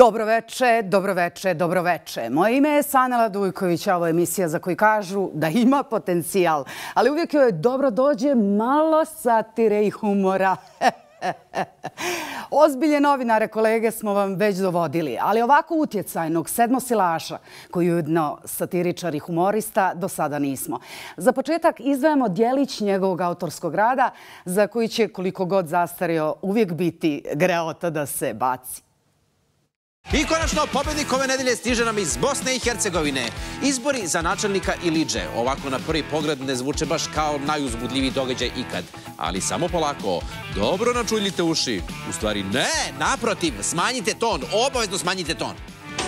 Dobroveče, dobroveče, dobroveče. Moje ime je Sanela Dujković, a ovo je emisija za koju kažu da ima potencijal, ali uvijek joj dobro dođe malo satire i humora. Ozbilje novinare, kolege, smo vam već dovodili, ali ovako utjecajnog sedmosilaša, koji je ujedno satiričar i humorista, do sada nismo. Za početak izdvajamo djelić njegovog autorskog rada, za koji će, koliko god zastario, uvijek biti greota da se baci. I konačno, pobednik ove nedelje stiže nam iz Bosne i Hercegovine. Izbori za načelnika Ilidže. Ovako na prvi pogled ne zvuče baš kao najuzbudljiviji događaj ikad. Ali samo polako, dobro načuljite uši. U stvari ne, naprotiv, smanjite ton, obavezno smanjite ton.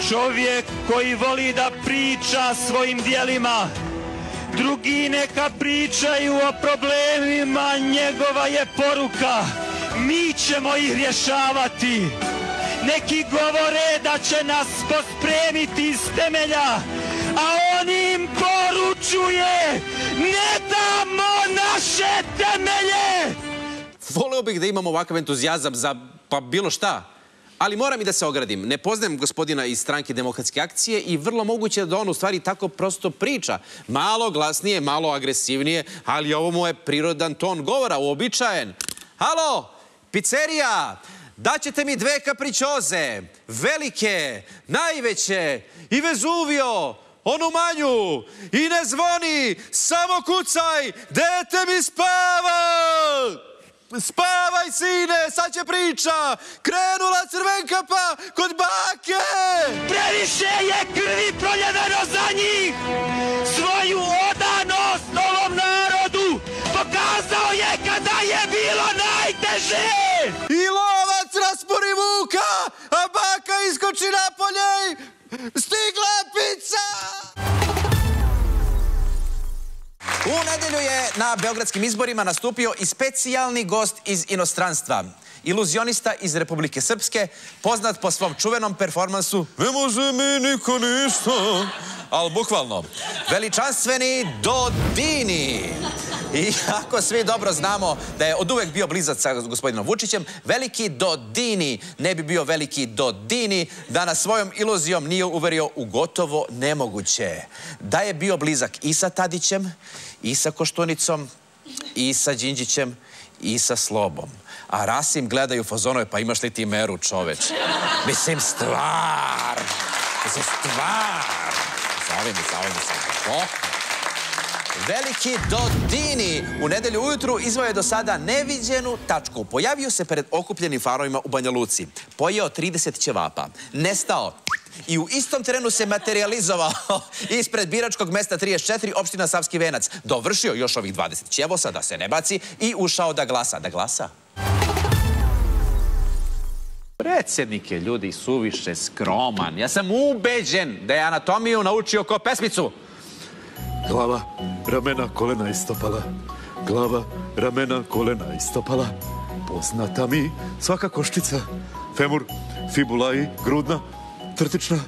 Čovjek koji voli da priča svojim dijelima, drugi neka pričaju o problemima, njegova je poruka. Mi ćemo ih rješavati. Neki govore da će nas pospremiti iz temelja, a on im poručuje: ne damo naše temelje! Voleo bih da imam ovakav entuzijazam za pa bilo šta. Ali moram i da se ogradim. Ne poznajem gospodina iz stranke Demokratske akcije i vrlo moguće da on u stvari tako prosto priča. Malo glasnije, malo agresivnije, ali ovo mu je prirodan ton govora, uobičajen. Halo, pizzerija! Daćete mi 2 kapričoze, velike, najveće i Vezuvio, onu manju, i ne zvoni, samo kucaj, dete mi spava! Spavaj, sine, sad će priča, krenula Crvenkapa kod bake! Previše je krvi proljeveno za njih! Svoju odanost ovom narodu pokazao je kada je bilo najteže! I lovac raspori vuka, a baka iskoči napolje i stigla je pizza! U nedjelju je na beogradskim izborima nastupio i specijalni gost iz inostranstva. Iluzionista iz Republike Srpske, poznat po svom čuvenom performansu "Ne može mi niko ništa", ali bukvalno, veličanstveni Dodini. I ako svi dobro znamo da je od uvek bio blizak sa gospodinom Vučićem, veliki Dodini ne bi bio veliki Dodini da nas svojom iluzijom nije uverio u gotovo nemoguće. Da je bio blizak i sa Tadićem, i sa Koštunicom, i sa Đinđićem, i sa Slobom. A Rasim gledaju fazonove, pa imaš li ti meru, čoveč? Mislim, stvar. Zove mi. Veliki Dodini u nedelju ujutru izveo je do sada neviđenu tačku. Pojavio se pred okupljenim farovima u Banja Luci. Pojeo 30 ćevapa. Nestao. I u istom terenu se materializovao ispred biračkog mesta 34, opština Savski Venac. Dovršio još ovih 20 ćevosa, da se ne baci, i ušao da glasa. Da glasa? Predsjednik je, ljudi, suviše skroman. Ja sam ubeđen da je anatomiju naučio ko pesmicu. Glava, ramena, kolena i stopala. Glava, ramena, kolena i stopala. Poznata mi svaka koščica. Femur, fibula i grudna, trtična.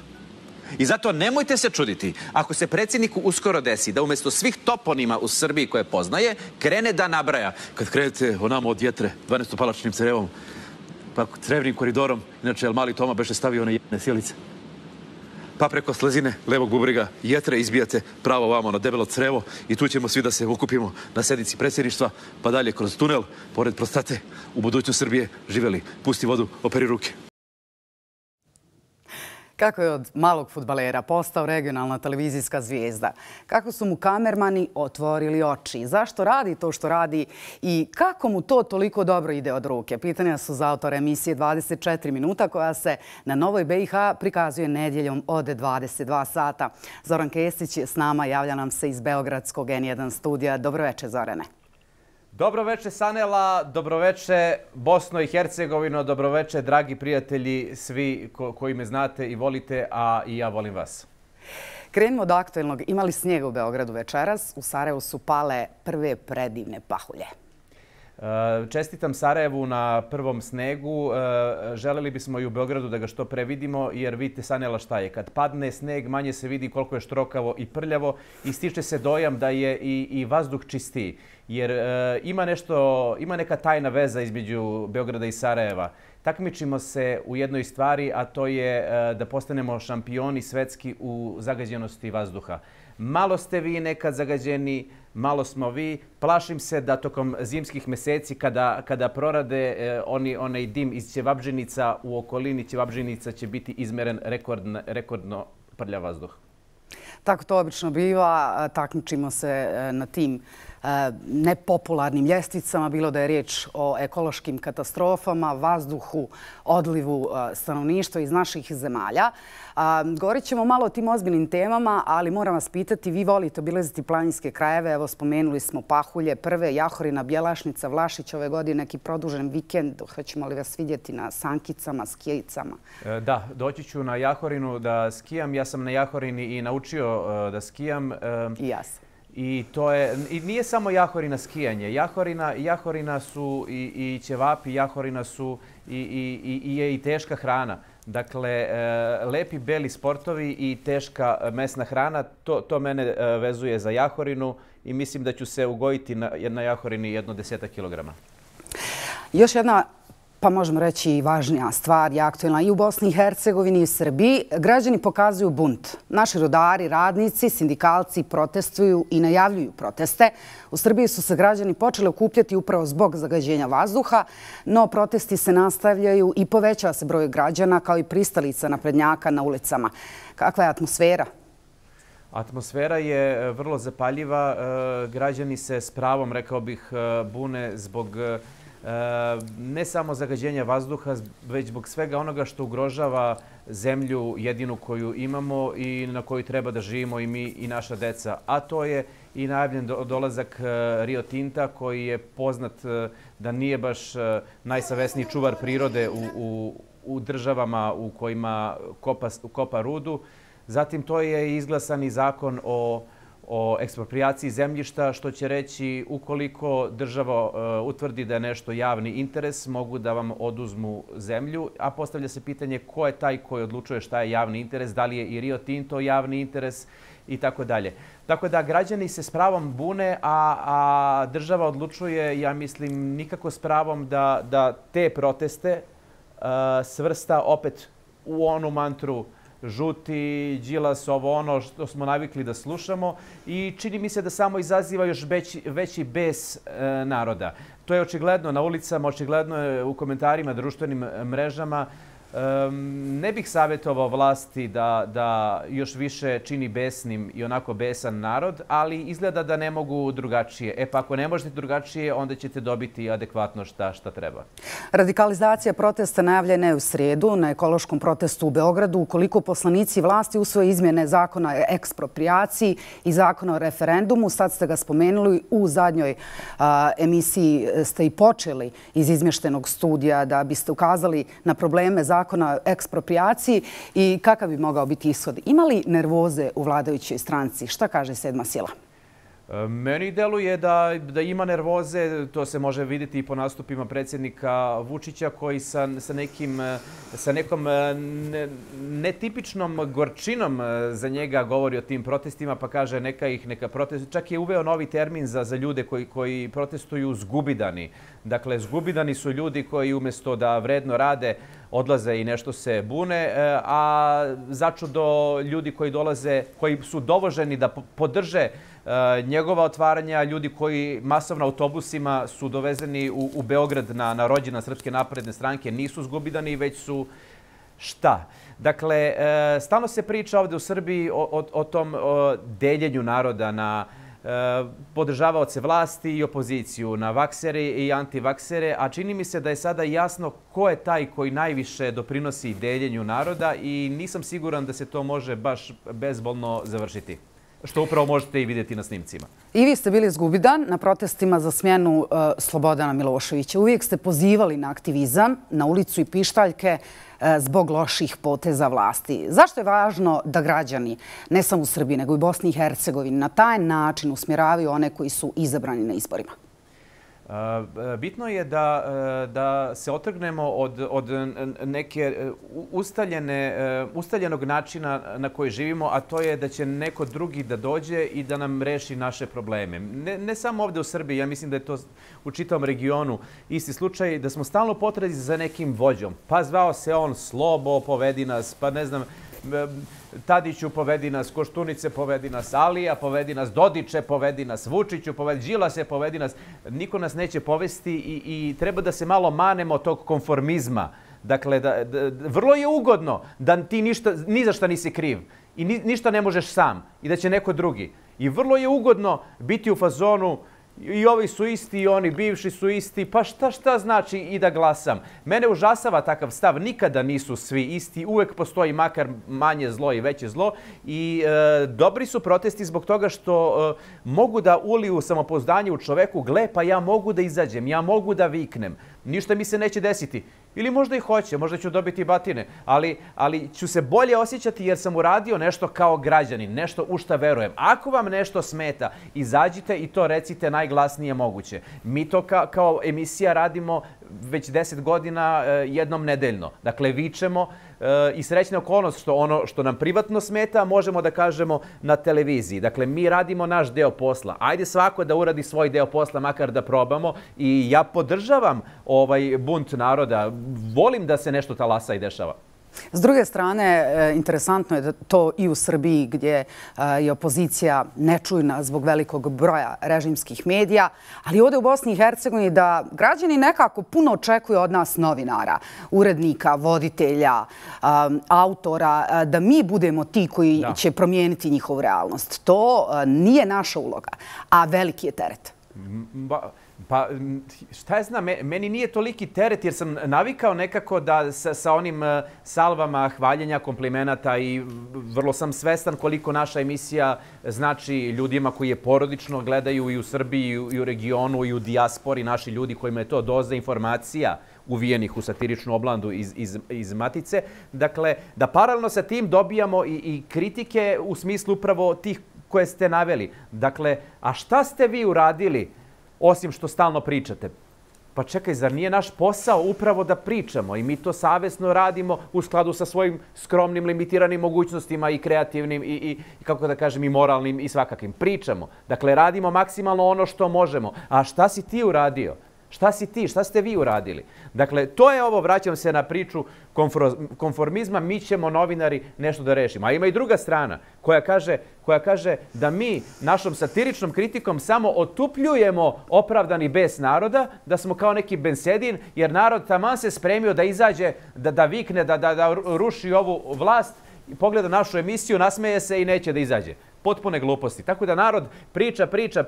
I zato nemojte se čuditi ako se predsjedniku uskoro desi da umjesto svih toponima u Srbiji koje poznaje, krene da nabraja. Kad krenete onamo od jetre, 12-palačnim crevom, pa crevnim koridorom, inače mali Toma beše stavio one jedne sjelice, pa preko slezine levog bubriga jetre izbijate pravo vamo na debelo crevo i tu ćemo svi da se okupimo na sednici predsjedništva, pa dalje kroz tunel, pored prostate, u budućnost Srbije živeli. Pusti vodu, operi ruke. Kako je od malog fudbalera postao regionalna televizijska zvijezda? Kako su mu kamermani otvorili oči? Zašto radi to što radi i kako mu to toliko dobro ide od ruke? Pitanja su za autora emisije 24 minuta koja se na Novoj BiH prikazuje nedjeljom od 22 sata. Zoran Kesić je s nama, javlja nam se iz beogradskog N1 studija. Dobroveče, Zorane. Dobroveče, Sanela, dobroveče, Bosno i Hercegovino, dobroveče, dragi prijatelji, svi koji me znate i volite, a i ja volim vas. Krenimo od aktuelnog. Imali snijega u Beogradu večeras. U Sarajevu su pale prve predivne pahulje. Čestitam Sarajevu na prvom snegu. Želeli bismo i u Beogradu da ga što pre vidimo, jer vidite, Sanela, šta je. Kad padne sneg, manje se vidi koliko je štrokavo i prljavo i stiče se dojam da je i vazduh čistiji. Jer ima neka tajna veza između Beograda i Sarajeva. Takmičimo se u jednoj stvari, a to je da postanemo šampioni svetski u zagađenosti vazduha. Malo ste vi nekad zagađeni, malo smo vi. Plašim se da tokom zimskih meseci kada prorade onaj dim iz ćevabdžinica, u okolini ćevabdžinica će biti izmeren rekordno prljav vazduh. Tako to obično biva. Takmičimo se na tim nepopularnim ljestvicama, bilo da je riječ o ekološkim katastrofama, vazduhu, odlivu stanovništva iz naših zemalja. Govorit ćemo malo o tim ozbiljnim temama, ali moram vas pitati, vi volite obilaziti planinske krajeve. Evo, spomenuli smo Pahulje, Prve, Jahorina, Bjelašnica, Vlašić, ove godine neki produžen vikend. Hoćemo li vas vidjeti na sankicama, skijicama? Da, doći ću na Jahorinu da skijam. Ja sam na Jahorini i naučio da skijam. I ja sam. I nije samo Jahorina skijanje. Jahorina su i ćevapi, Jahorina su i teška hrana. Dakle, lepi beli sportovi i teška mesna hrana, to mene vezuje za Jahorinu i mislim da ću se ugojiti na Jahorini 10 kilograma. Još jedna, pa možemo reći i važnija stvar, je aktuelna i u Bosni i Hercegovini i u Srbiji. Građani pokazuju bunt. Naši rodari, radnici, sindikalci protestuju i najavljuju proteste. U Srbiji su se građani počeli okupljati upravo zbog zagađenja vazduha, no protesti se nastavljaju i povećava se broj građana kao i pristalica naprednjaka na ulicama. Kakva je atmosfera? Atmosfera je vrlo zapaljiva. Građani se s pravom, rekao bih, bune zbog ne samo zagađenja vazduha, već zbog svega onoga što ugrožava zemlju jedinu koju imamo i na kojoj treba da živimo i mi i naša deca. A to je i najavljen dolazak Rio Tinta, koji je poznat da nije baš najsavesniji čuvar prirode u državama u kojima kopa rudu. Zatim to je izglasan i zakon o eksproprijaciji zemljišta, što će reći ukoliko država utvrdi da je nešto javni interes, mogu da vam oduzmu zemlju, a postavlja se pitanje ko je taj koji odlučuje šta je javni interes, da li je i Rio Tinto javni interes i tako dalje. Tako da građani se s pravom bune, a država odlučuje, ja mislim, nikako s pravom da te proteste svrsta opet u onu mantru žuti, Đilas, ovo ono što smo navikli da slušamo i čini mi se da samo izaziva još veći bes naroda. To je očigledno na ulicama, očigledno je u komentarima, društvenim mrežama. Ne bih savjetovao vlasti da još više čini besnim i onako besan narod, ali izgleda da ne mogu drugačije. Pa ako ne možete drugačije, onda ćete dobiti adekvatno šta treba. Radikalizacija protesta najavljena je u srijedu na ekološkom protestu u Beogradu. Ukoliko poslanici vlasti usvoje izmjene zakona o eksproprijaciji i zakona o referendumu, sad ste ga spomenuli, u zadnjoj emisiji ste i počeli iz izmještenog studija da biste ukazali na probleme zakona o eksproprijaciji i kakav bi mogao biti ishod. Ima li nervoze u vladajućoj stranci? Šta kaže sedma sila? Meni deluje da ima nervoze, to se može vidjeti i po nastupima predsjednika Vučića koji sa nekom netipičnom gorčinom za njega govori o tim protestima pa kaže neka protestuju. Čak je uveo novi termin za ljude koji protestuju zgubidani. Dakle, zgubidani su ljudi koji umjesto da vredno rade odlaze i nešto se bune, a začudo ljudi koji dolaze, koji su dovoženi da podrže njegova otvaranja, ljudi koji masovno autobusima su dovezeni u Beograd na rođendan Srpske napredne stranke, nisu zgubidani, već su šta? Dakle, stalno se priča ovdje u Srbiji o tom deljenju naroda na podržavaoce vlasti i opoziciju, na vaksere i antivaksere, a čini mi se da je sada jasno ko je taj koji najviše doprinosi deljenju naroda i nisam siguran da se to može baš bezbolno završiti. Što upravo možete i vidjeti na snimcima. I vi ste bili zgubidan na protestima za smjenu Slobodana Miloševića. Uvijek ste pozivali na aktivizam, na ulicu i pištaljke zbog loših poteza vlasti. Zašto je važno da građani, ne samo u Srbiji, nego i Bosni i Hercegovini, na taj način usmjeravaju one koji su izabrani na izborima? Bitno je da se otrgnemo od neke ustaljenog načina na koji živimo, a to je da će neko drugi da dođe i da nam reši naše probleme. Ne samo ovdje u Srbiji, ja mislim da je to u čitavom regionu isti slučaj, da smo stalno potrazi za nekim vođom. Pa zvao se on Slobo, povedi nas, pa ne znam, Tadiću povedi nas, Koštunice povedi nas, Alija povedi nas, Dodiće povedi nas, Vučiću povedi, Đilase povedi nas. Niko nas neće povesti i treba da se malo manemo tog konformizma. Dakle, vrlo je ugodno da ti ni za šta nisi kriv i ništa ne možeš sam i da će neko drugi. I vrlo je ugodno biti u fazonu i ovi su isti i oni bivši su isti, pa šta znači i da glasam? Mene užasava takav stav, nikada nisu svi isti, uvek postoji makar manje zlo i veće zlo i dobri su protesti zbog toga što mogu da uliju samopouzdanje u čoveku, gle pa ja mogu da izađem, ja mogu da viknem, ništa mi se neće desiti. Ili možda i hoće, možda ću dobiti batine, ali ću se bolje osjećati jer sam uradio nešto kao građanin, nešto u šta verujem. Ako vam nešto smeta, izađite i to recite najglasnije moguće. Mi to kao emisija radimo već 10 godina jednom nedeljno. Dakle, vičemo i srećna okolnost što ono što nam privatno smeta možemo da kažemo na televiziji. Dakle, mi radimo naš deo posla. Ajde svako da uradi svoj deo posla, makar da probamo. I ja podržavam ovaj bunt naroda. Volim da se nešto talasa i dešava. S druge strane, interesantno je da to i u Srbiji gdje je opozicija nečujna zbog velikog broja režimskih medija, ali ovdje u Bosni i Hercegovini da građani nekako puno očekuju od nas novinara, urednika, voditelja, autora, da mi budemo ti koji će promijeniti njihovu realnost. To nije naša uloga, a veliki je teret. Pa šta ja znam, meni nije toliki teret jer sam navikao nekako da sa onim salvama hvaljenja, komplimenata i vrlo sam svestan koliko naša emisija znači ljudima koji je porodično gledaju i u Srbiji i u regionu i u dijaspori, naši ljudi kojima je to doza informacija uvijenih u satiričnu oblandu iz Matice. Dakle, da paralelno sa tim dobijamo i kritike u smislu upravo tih koje ste naveli. Dakle, a šta ste vi uradili osim što stalno pričate? Pa čekaj, zar nije naš posao upravo da pričamo i mi to savjesno radimo u skladu sa svojim skromnim, limitiranim mogućnostima i kreativnim i kako da kažem, i moralnim i svakakvim. Pričamo. Dakle, radimo maksimalno ono što možemo. A šta si ti uradio? Šta si ti? Šta ste vi uradili? Dakle, to je ovo, vraćam se na priču konformizma, mi ćemo novinari nešto da rešimo. A ima i druga strana koja kaže da mi našom satiričnom kritikom samo otupljujemo opravdani bes naroda, da smo kao neki bensedin, jer narod taman se spremio da izađe, da vikne, da ruši ovu vlast, pogleda našu emisiju, nasmeje se i neće da izađe. Potpune gluposti. Tako da narod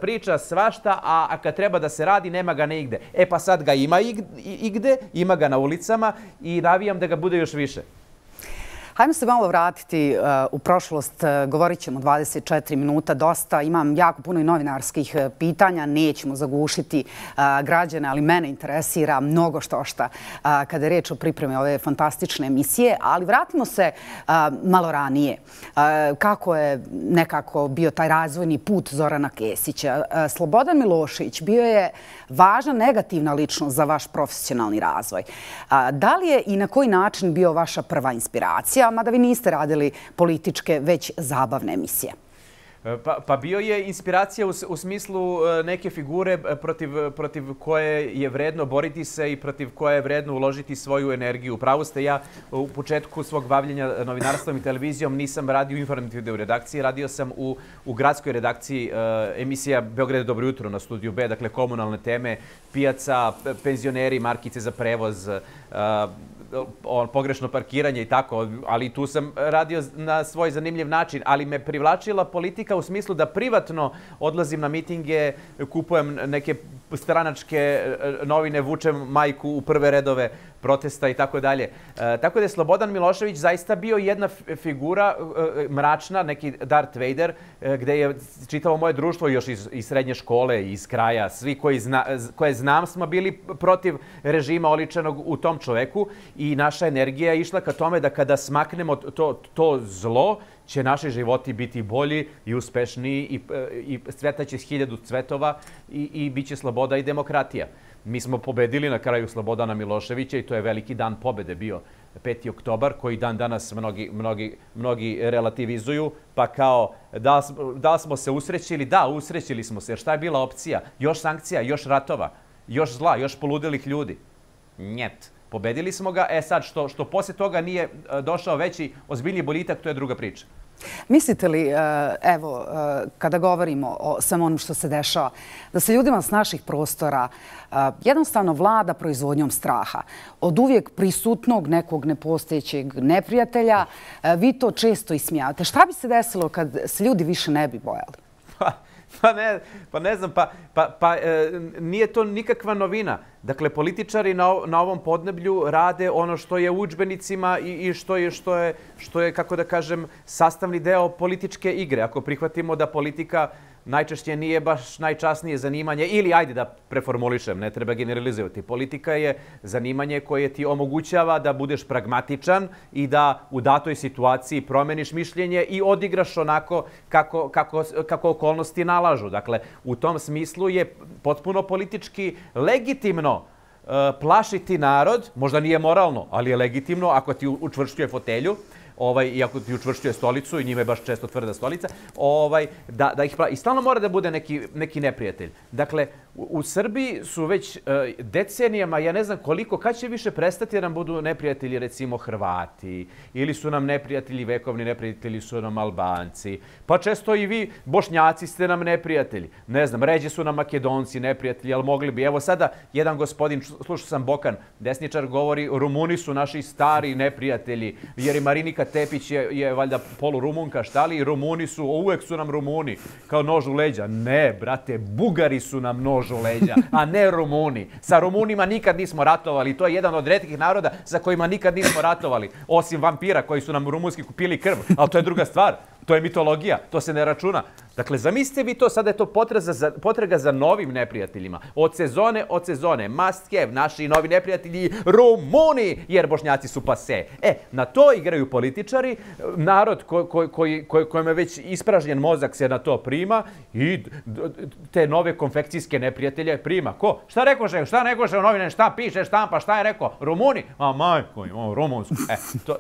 priča svašta, a kad treba da se radi, nema ga neigde. E pa sad ga ima igde, ima ga na ulicama i navijam da ga bude još više. Hajmo se malo vratiti u prošlost. Govorit ćemo 24 minuta dosta. Imam jako puno i novinarskih pitanja. Nećemo zagušiti građane, ali mene interesira mnogo štošta kada je reč o pripremi ove fantastične emisije. Ali vratimo se malo ranije. Kako je nekako bio taj razvojni put Zorana Kesića? Slobodan Milošević bio je važna negativna ličnost za vaš profesionalni razvoj. Da li je i na koji način bio vaša prva inspiracija? Mada vi niste radili političke, već zabavne emisije. Pa bio je inspiracija u smislu neke figure protiv koje je vredno boriti se i protiv koje je vredno uložiti svoju energiju. Upravo ste, ja u početku svog bavljenja novinarstvom i televizijom nisam radio u informativnoj redakciji, radio sam u gradskoj redakciji emisija Beograd je dobro jutro na Studiju B, dakle komunalne teme, pijaca, penzioneri, markice za prevoz, pogrešno parkiranje i tako, ali tu sam radio na svoj zanimljiv način, ali me privlačila politika u smislu da privatno odlazim na mitinge, kupujem neke stranačke novine, vučem majku u prve redove protesta i tako dalje. Tako da je Slobodan Milošević zaista bio jedna figura mračna, neki Darth Vader, gde je čitavo moje društvo još iz srednje škole, iz kraja, svi koje znam smo bili protiv režima oličenog u tom čoveku i naša energija je išla ka tome da kada smaknemo to zlo, će naši životi biti bolji i uspešniji i cvetaće 1000 cvetova i bit će sloboda i demokratija. Mi smo pobedili na kraju Slobodana Miloševića i to je veliki dan pobede bio 5. oktobar, koji dan danas mnogi relativizuju, pa kao da smo se usrećili, da, usrećili smo se, jer šta je bila opcija? Još sankcija, još ratova, još zla, još poludelih ljudi. Njet. Pobedili smo ga, sad što poslije toga nije došao veći ozbiljniji boljitak, to je druga priča. Mislite li, evo, kada govorimo o samo onom što se dešava, da se ljudima s naših prostora jednostavno vlada proizvodnjom straha? Od uvijek prisutnog nekog nepostojećeg neprijatelja, vi to često ismijavate. Šta bi se desilo kad se ljudi više ne bi bojali? Pa ne znam, nije to nikakva novina. Dakle, političari na ovom podneblju rade ono što je u udžbenicima i što je, kako da kažem, sastavni deo političke igre. Ako prihvatimo da politika najčešće nije baš najčasnije zanimanje, ili ajde da preformulišem, ne treba generalizovati. Politika je zanimanje koje ti omogućava da budeš pragmatičan i da u datoj situaciji promeniš mišljenje i odigraš onako kako okolnosti nalažu. Dakle, u tom smislu je potpuno politički legitimno plašiti narod, možda nije moralno, ali je legitimno ako ti učvršćuje fotelju, iako ti učvršćuje stolicu i njime je baš često tvrda stolica, da ih pravi. I stalno mora da bude neki neprijatelj. Dakle, u Srbiji su već decenijama, ja ne znam koliko, kad će više prestati da nam budu neprijatelji, recimo Hrvati, ili su nam neprijatelji, vekovni neprijatelji su nam Albanci, pa često i vi, Bošnjaci, ste nam neprijatelji. Ne znam, ređe su nam Makedonci neprijatelji, ali mogli bi. Evo sada, jedan gospodin, slušao sam Bokan, desničar, govori, Rumuni su naši stari neprijatelji, jer i Marinika Tepić je valjda polurumunka, šta li? Rumuni su, uvek su nam Rumuni, kao nož u leđa. Ne, brate, Bugari su nam nož u leđa, a ne Rumuni. Sa Rumunima nikad nismo ratovali. To je jedan od retkih naroda sa kojima nikad nismo ratovali. Osim vampira koji su nam rumunski kupili krv. Ali to je druga stvar. To je mitologija. To se ne računa. Dakle, zamislite vi to, sada je to potraga za novim neprijateljima. Od sezone, must have, naši novi neprijatelji, Rumuni, jer Bošnjaci su pase. Na to igraju političari, narod kojem je već ispražnjen mozak se na to prima i te nove konfekcijske neprijatelje prima. Ko? Šta rekoše u novine, šta piše, štampa, šta je rekao? Rumuni? A majko, Rumunsku.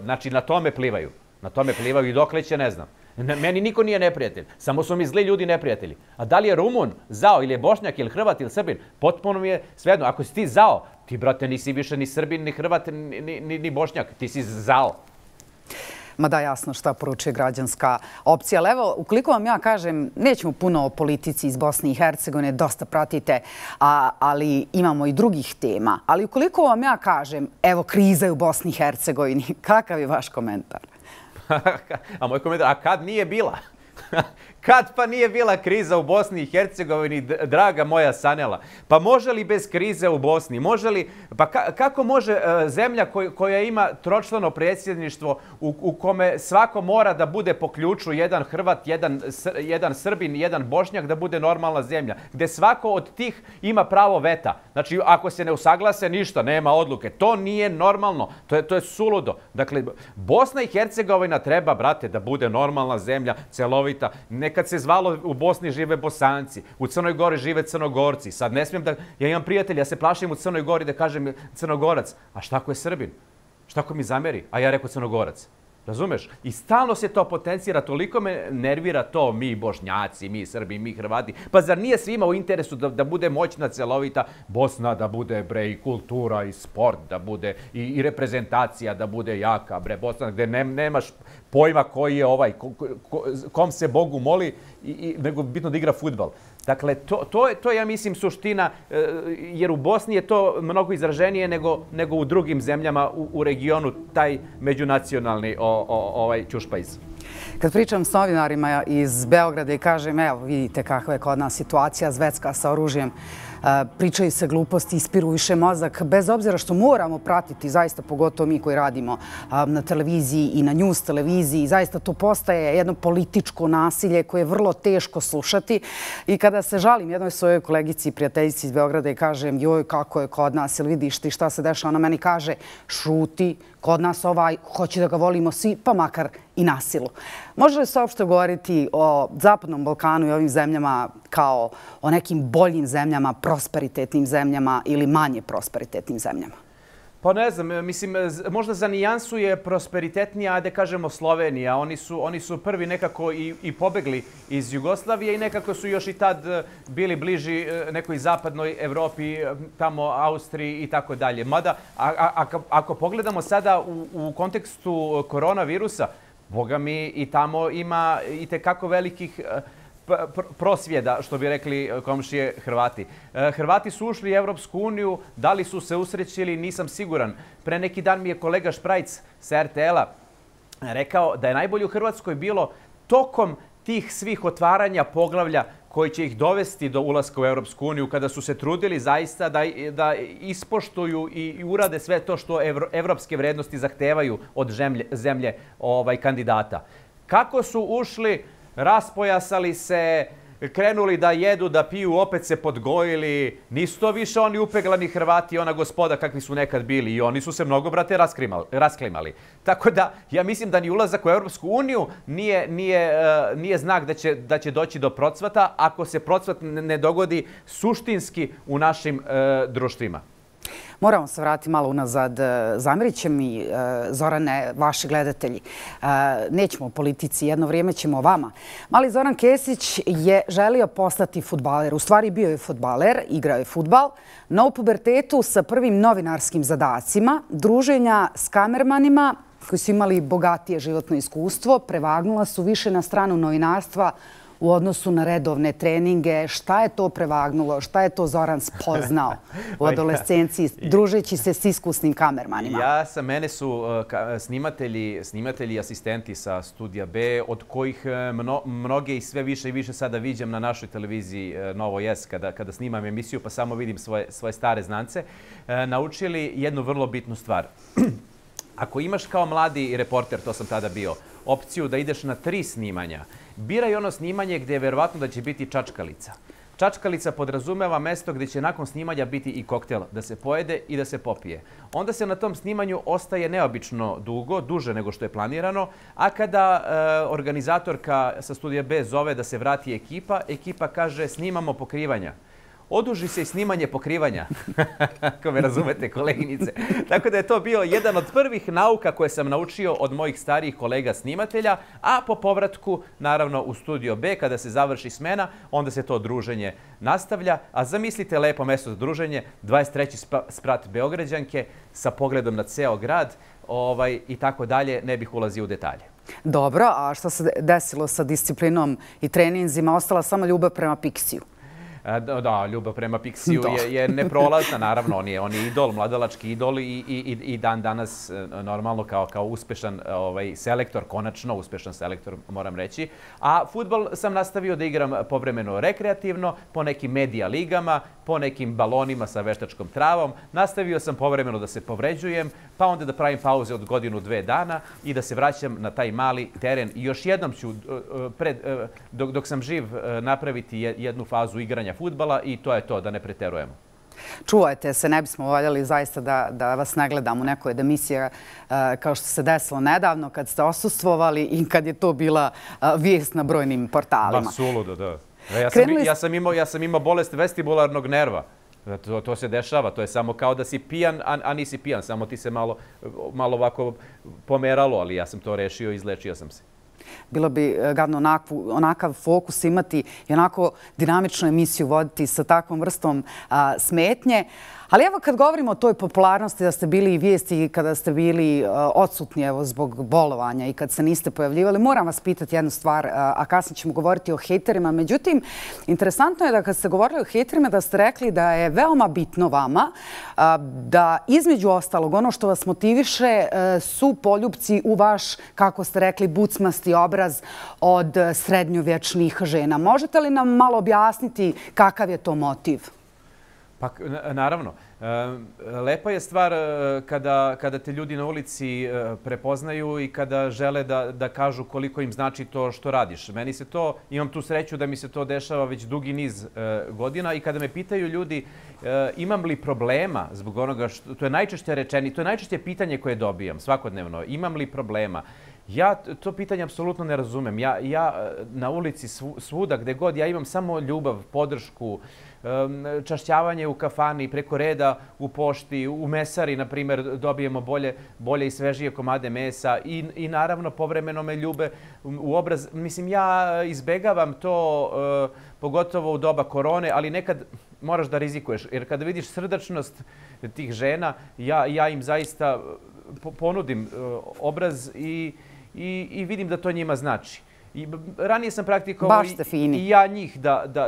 Znači, na tome plivaju. Na tome plivaju i dokle će, ne znam. Meni niko nije neprijatelj, samo su mi zli ljudi neprijatelji. A da li je Rumun, Zao, ili je Bošnjak, ili Hrvat, ili Srbin, potpuno mi je svejedno. Ako si ti Zao, ti, brate, nisi više ni Srbin, ni Hrvat, ni Bošnjak, ti si Zao. Ma da, jasno šta poručuje građanska opcija. Ali evo, ukoliko vam ja kažem, nećemo puno o politici iz Bosne i Hercegovine, dosta pratite, ali imamo i drugih tema. Ali ukoliko vam ja kažem, evo, kriza je u Bosni i Hercegovini, kakav je vaš komentar? A moj komentar, a kad nije bila? Kad pa nije bila kriza u Bosni i Hercegovini, draga moja Sanela? Pa može li bez krize u Bosni? Može li, pa kako može zemlja koja ima tročlano predsjedništvo u kome svako mora da bude po ključu, jedan Hrvat, jedan Srbin, jedan Bošnjak, da bude normalna zemlja, gde svako od tih ima pravo veta. Znači, ako se ne usaglase, ništa, nema odluke. To nije normalno. To je suludo. Dakle, Bosna i Hercegovina treba, brate, da bude normalna zemlja, celovita. Nekad se zvalo u Bosni žive Bosanci, u Crnoj Gori žive Crnogorci. Sad ne smijem da, ja imam prijatelja, ja se plašim u Crnoj Gori da kažem Crnogorac. A šta ako je Srbin? Šta ako mi zameri? A ja rekao Crnogorac. Razumeš? I stalno se to potencira, toliko me nervira to, mi Bošnjaci, mi Srbi, mi Hrvati. Pa zar nije svima u interesu da bude moćna, celovita Bosna, da bude, bre, i kultura, i sport, da bude i reprezentacija, da bude jaka, bre, Bosna, gde nemaš pojma koji je kom se Bogu moli, nego bitno da igra fudbal. Dakle, to je, ja mislim, suština, jer u Bosni je to mnogo izraženije nego u drugim zemljama u regionu, taj međunacionalni ćušpajz. Kad pričam s novinarima iz Beograda i kažem, evo, vidite kakva je kod nas situacija zvetska sa oružjem, pričaju se gluposti, ispiru više mozak, bez obzira što moramo pratiti, zaista pogotovo mi koji radimo na televiziji i na news televiziji, zaista to postaje jedno političko nasilje koje je vrlo teško slušati. I kada se žalim jednoj svojoj kolegici i prijateljici iz Beograda i kažem joj kako je kod nas, ili vidiš ti šta se dešava, ona meni kaže šuti, kod nas hoće da ga volimo svi, pa makar i na silu. Može li se uopšte govoriti o Zapadnom Balkanu i ovim zemljama kao o nekim boljim zemljama, prosperitetnim zemljama ili manje prosperitetnim zemljama? Pa ne znam, mislim, možda za nijansu je prosperitetnija, da kažemo Slovenija. Oni su prvi nekako i pobegli iz Jugoslavije i nekako su još i tad bili bliži nekoj zapadnoj Evropi, tamo Austriji i tako dalje. Mada, ako pogledamo sada u kontekstu koronavirusa, boga mi i tamo ima i tekako velikih prosvjeda, što bi rekli komšije Hrvati. Hrvati su ušli u Evropsku uniju, da li su se usrećili, nisam siguran. Pre neki dan mi je kolega Šprajc sa RTL-a rekao da je najbolje u Hrvatskoj bilo tokom tih svih otvaranja poglavlja koji će ih dovesti do ulaska u Evropsku uniju, kada su se trudili zaista da ispoštuju i urade sve to što evropske vrednosti zahtevaju od zemlje kandidata. Kako su ušli, raspojasali se, krenuli da jedu, da piju, opet se podgojili. Nisu to više oni upeglani Hrvati, ona gospoda kakvi su nekad bili. I oni su se mnogo, brate, rasklimali. Tako da, ja mislim da ni ulazak u Europsku uniju nije znak da će doći do procvata ako se procvat ne dogodi suštinski u našim društvima. Moramo se vratiti malo unazad. Zamerit će mi, Zorane, vaši gledatelji. Nećemo o politici, jedno vrijeme ćemo o vama. Mali Zoran Kesić je želio postati fudbaler. U stvari bio je fudbaler, igrao je fudbal, no u pubertetu sa prvim novinarskim zadacima, druženja s kamermanima koji su imali bogatije životno iskustvo, prevagnula su više na stranu novinarstva u odnosu na redovne treninge. Šta je to prevagnulo? Šta je to Zoran spoznao u adolescenciji, družeći se s iskusnim kamermanima? Mene su snimatelji i asistenti sa Studija B, od kojih mnoge i sve više i više sada viđam na našoj televiziji Novo S, kada snimam emisiju, pa samo vidim svoje stare znance, naučili jednu vrlo bitnu stvar. Ako imaš kao mladi reporter, to sam tada bio, opciju da ideš na 3 snimanja, biraj ono snimanje gdje je verovatno da će biti čačkalica. Čačkalica podrazumeva mesto gdje će nakon snimanja biti i koktel, da se pojede i da se popije. Onda se na tom snimanju ostaje neobično dugo, duže nego što je planirano, a kada organizatorka sa Studija B zove da se vrati ekipa kaže snimamo pokrivanja. Oduži se i snimanje pokrivanja, ako me razumete, koleginice. Tako da je to bio jedan od prvih nauka koje sam naučio od mojih starijih kolega snimatelja, a po povratku, naravno, u Studio B, kada se završi smena, onda se to druženje nastavlja. A zamislite lepo mesto za druženje, 23. sprat Beograđanke sa pogledom na ceo grad i tako dalje, ne bih ulazio u detalje. Dobro, a što se desilo sa disciplinom i treninzima? Ostala samo ljubav prema Pixiju. Da, ljubav prema Pixiju je neprolazna, naravno, on je idol, mladalački idol i dan danas normalno kao uspešan selektor, konačno uspešan selektor, moram reći. A fudbal sam nastavio da igram povremeno rekreativno, po nekim medija ligama, po nekim balonima sa veštačkom travom. Nastavio sam povremeno da se povređujem, pa onda da pravim pauze od 1-2 dana i da se vraćam na taj mali teren. I još jednom ću, dok sam živ, napraviti jednu fazu igranja fudbala i to je to, da ne preterujemo. Čuvajte se, ne bismo voljeli zaista da vas ne gledamo u nekoj od emisija kao što se desilo nedavno kad ste osustvovali i kad je to bila vijest na brojnim portalima. Ma suludo, da. Ja sam imao bolest vestibularnog nerva. To se dešava, to je samo kao da si pijan, a nisi pijan, samo ti se malo ovako pomeralo, ali ja sam to rešio i izlečio sam se. Bilo bi gadno onakav fokus imati i onako dinamičnu emisiju voditi sa takvom vrstom smetnje. Ali evo kad govorimo o toj popularnosti, da ste bili i vijesti kada ste bili odsutni zbog bolovanja i kad se niste pojavljivali, moram vas pitati jednu stvar, a kasnije ćemo govoriti o hejterima. Međutim, interesantno je da kad ste govorili o hejterima da ste rekli da je veoma bitno vama da između ostalog ono što vas motiviše su poljupci u vaš, kako ste rekli, bucmasti obraz od srednjovječnih žena. Možete li nam malo objasniti kakav je to motiv? Pa naravno. Lepa je stvar kada te ljudi na ulici prepoznaju i kada žele da kažu koliko im znači to što radiš. Meni se to, imam tu sreću da mi se to dešava već dugi niz godina i kada me pitaju ljudi imam li problema zbog onoga što, to je najčešće rečeni, to je najčešće pitanje koje dobijam svakodnevno, imam li problema. Ja to pitanje apsolutno ne razumem. Ja na ulici svuda gde god ja imam samo ljubav, podršku, čašćavanje u kafani, preko reda u pošti, u mesari, na primjer, dobijemo bolje i svežije komade mesa i naravno povremeno me ljube u obraz. Mislim, ja izbegavam to, pogotovo u doba korone, ali nekad moraš da rizikuješ. Jer kada vidiš srdačnost tih žena, ja im zaista ponudim obraz i vidim da to njima znači. Ranije sam praktikovao i ja njih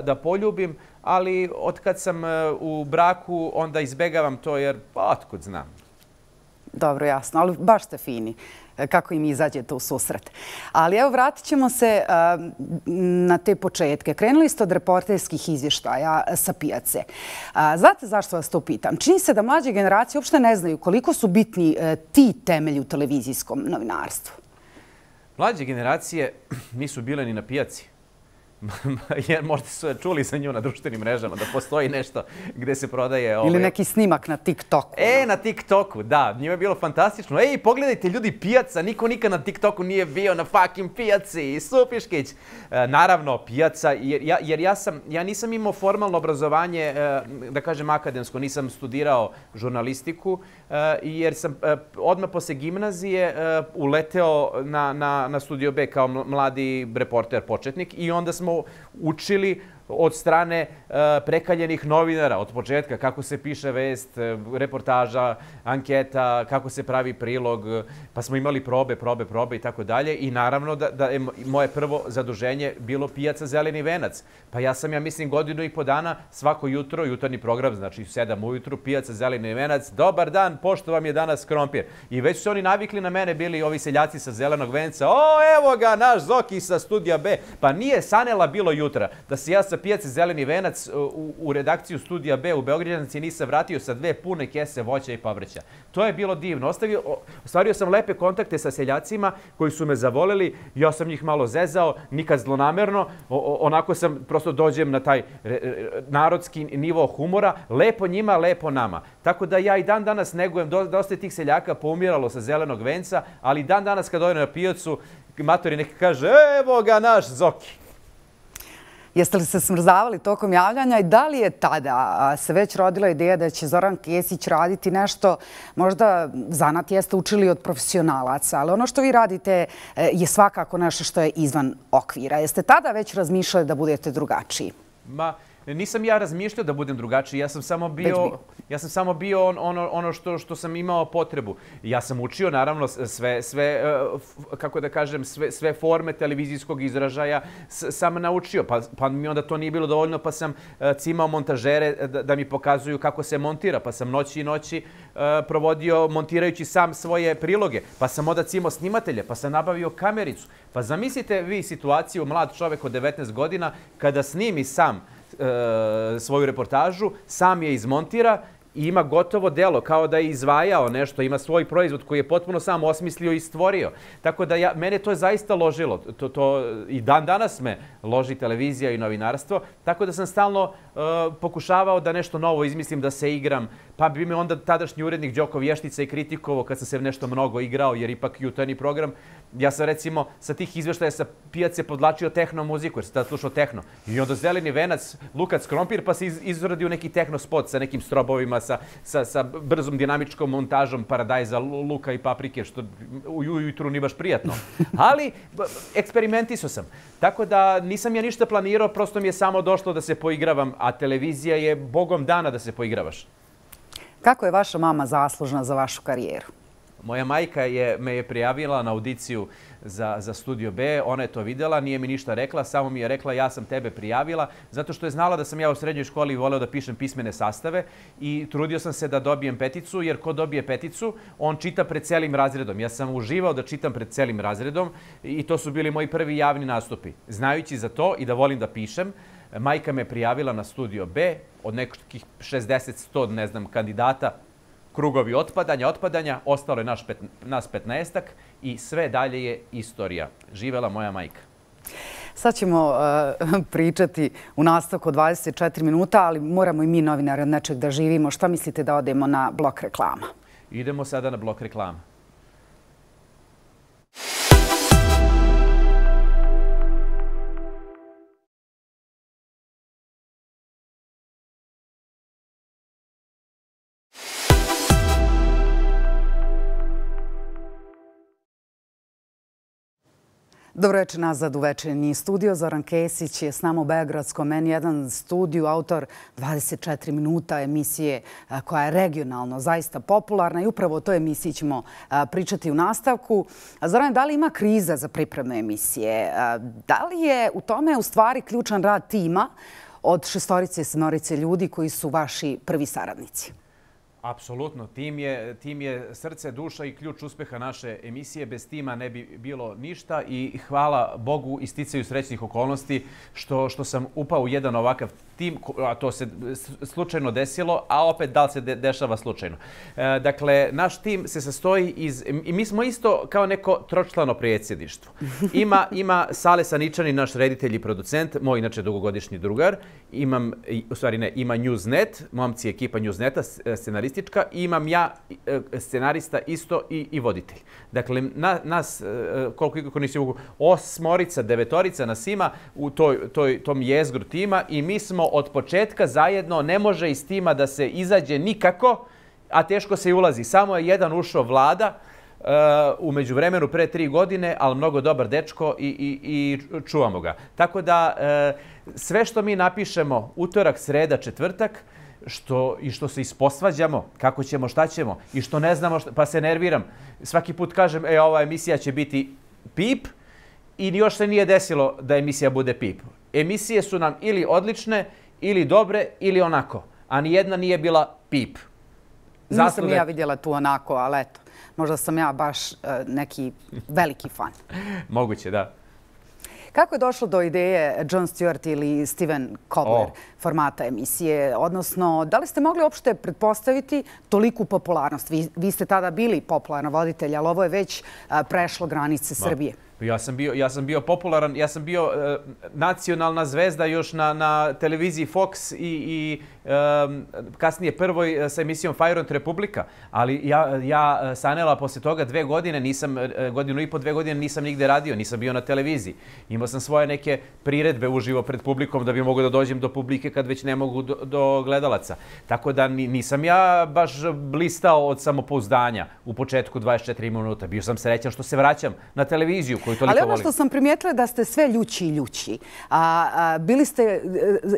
da poljubim, ali od kad sam u braku onda izbegavam to jer otkud znam. Dobro, jasno, ali baš ste fini kako im izađete u susret. Ali evo, vratit ćemo se na te početke. Krenuli ste od reporterskih izvještaja sa pijace. Znate zašto vas to pitam? Čini se da mlađe generacije uopšte ne znaju koliko su bitni ti temelji u televizijskom novinarstvu. Mlađe generacije nisu bile ni na pijaci. Jer možda su čuli za nju na društvenim mrežama da postoji nešto gde se prodaje... Ili neki snimak na TikToku. Na TikToku, da. Njima je bilo fantastično. Pogledajte ljudi, pijaca. Niko nikad na TikToku nije bio na fucking pijaci. Supiškić. Naravno, pijaca. Jer ja nisam imao formalno obrazovanje, da kažem akademsko. Nisam studirao žurnalistiku. Jer sam odmah posle gimnazije uleteo na Studio B kao mladi reporter početnik i onda smo učili od strane prekaljenih novinara od početka kako se piše vest, reportaža, anketa, kako se pravi prilog, pa smo imali probe i tako dalje. I naravno da je moje prvo zaduženje bilo pijaca Zeleni venac. Pa ja mislim, godinu i po dana svako jutro, jutarnji program, znači 7 ujutru, pijaca Zeleni venac, dobar dan, pošto vam je danas krompir. I već su oni navikli na mene, bili ovi seljaci sa Zelenog venca, evo ga, naš Zoki sa Studija B. Pa nije sanela bilo jutra da se ja sa pijace Zeleni venac u redakciju Studija B u Beograđanci nisam vratio sa 2 pune kese voća i povrća. To je bilo divno. Ostvario sam lepe kontakte sa seljacima koji su me zavoleli. Ja sam njih malo zezao, nikad zlonamerno. Onako sam, prosto dođem na taj narodski nivo humora. Lepo njima, lepo nama. Tako da ja i dan danas negujem. Dosta je tih seljaka poumiralo sa Zelenog venca, ali dan danas kad dođem na pijacu, matori neki kaže, evo ga naš Zoki. Jeste li se smrzavali tokom javljanja i da li je tada se već rodila ideja da će Zoran Kesić raditi nešto, možda zanat jeste učili od profesionalaca, ali ono što vi radite je svakako nešto što je izvan okvira. Jeste tada već razmišljali da budete drugačiji? Nisam ja razmišljao da budem drugačiji, ja sam samo bio ono što sam imao potrebu. Ja sam učio, naravno, kako da kažem, sve forme televizijskog izražaja sam naučio. Pa mi onda to nije bilo dovoljno, pa sam cimao montažere da mi pokazuju kako se montira. Pa sam noći i noći provodio montirajući sam svoje priloge. Pa sam onda cimao snimatelje, pa sam nabavio kamericu. Pa zamislite vi situaciju, mlad čovek od 19 godina, kada snimi sam svoju reportažu, sam je izmontira i ima gotovo delo, kao da je izvajao nešto, ima svoj proizvod koji je potpuno sam osmislio i stvorio. Tako da mene to je zaista ložilo. I dan danas me loži televizija i novinarstvo, tako da sam stalno pokušavao da nešto novo izmislim, da se igram. Pa bi me onda tadašnji urednik Đoko Vještica i kritikovao kad sam se nešto mnogo igrao, jer ipak jutarnji program. Ja sam recimo sa tih izveštaja sa pijace podlačio tehno muziku, jer sam tada slušao tehno. I onda Zeleni venac, Lukac krompir, pa se izradio neki tehno spot sa nekim strobovima, sa brzom dinamičkom montažom paradajza, luka i paprike, što ujutru nije baš prijatno. Ali eksperimentisao sam. Tako da nisam ja ništa planirao, prosto mi je samo došlo da se poigravam, a televizija je bogom dana da se poigravaš. Kako je vaša mama zaslužna za vašu karijeru? Moja majka me je prijavila na audiciju za Studio B, ona je to videla, nije mi ništa rekla, samo mi je rekla ja sam tebe prijavila, zato što je znala da sam ja u srednjoj školi voleo da pišem pismene sastave i trudio sam se da dobijem peticu, jer ko dobije peticu, on čita pred celim razredom. Ja sam uživao da čitam pred celim razredom i to su bili moji prvi javni nastupi. Znajući za to i da volim da pišem, Majka me prijavila na Studio B od nekih 60-100, ne znam, kandidata, krugovi otpadanja, ostalo je nas 15-ak i sve dalje je istorija. Živela moja majka. Sad ćemo pričati u nastavku 24 minuta, ali moramo i mi novinari od nečeg da živimo. Šta mislite da odemo na blok reklama? Idemo sada na blok reklama. Dobro večer nazad u večernji studio. Zoran Kesić je s nama u Beogradskom N1 studiju, autor 24 minuta emisije koja je regionalno zaista popularna i upravo o toj emisiji ćemo pričati u nastavku. Zoran, da li ima kriza za pripreme emisije? Da li je u tome u stvari ključan rad tima od 6-7 ljudi koji su vaši prvi saradnici? Apsolutno. Tim je srce, duša i ključ uspeha naše emisije. Bez tima ne bi bilo ništa i hvala Bogu i sticaju srećnih okolnosti što sam upao u jedan ovakav tim, a to se slučajno desilo, a opet da li se dešava slučajno. Dakle, naš tim se sastoji i mi smo isto kao neko tročlano predsjedništvo. Ima Sale Saničani, naš reditelj i producent, moj inače dugogodišnji drugar. Ima Newsnet, momci ekipa Newsneta, scenaristička, i imam ja scenarista isto i voditelj. Dakle, nas, koliko nisi mogu, 8, 9 nas ima u tom jezgru tima i mi smo od početka zajedno, ne može iz tima da se izađe nikako, a teško se i ulazi. Samo je jedan ušao, Vlada, u međuvremenu pre 3 godine, ali mnogo dobar dečko i čuvamo ga. Tako da sve što mi napišemo utorak, sreda, četvrtak, što se isposvađamo, kako ćemo, šta ćemo i što ne znamo, pa se nerviram. Svaki put kažem, ova emisija će biti pip i još se nije desilo da emisija bude pip. Emisije su nam ili odlične, ili dobre, ili onako. A nijedna nije bila pip. Nisam ja vidjela tu onako, ali eto, možda sam ja baš neki veliki fan. Moguće, da. Kako je došlo do ideje Jon Stewart ili Steven Kobler formata emisije? Odnosno, da li ste mogli uopšte pretpostaviti toliku popularnost? Vi ste tada bili popularan voditelj, ali ovo je već prešlo granice Srbije. Ja sam bio popularan, ja sam bio nacionalna zvezda još na televiziji Fox i kasnije prvoj sa emisijom Fajront Republika. Ali ja sanela posle toga 2 godine, godinu i po 2 godine nisam nigde radio, nisam bio na televiziji. Imao sam svoje neke priredbe uživo pred publikom da bi mogo da dođem do publike kad već ne mogu do gledalaca. Tako da nisam ja baš blistao od samopouzdanja u početku 24 minuta. Bio sam srećan što se vraćam na televiziju. Ali ono što sam primijetila je da ste sve ljući i ljući. Bili ste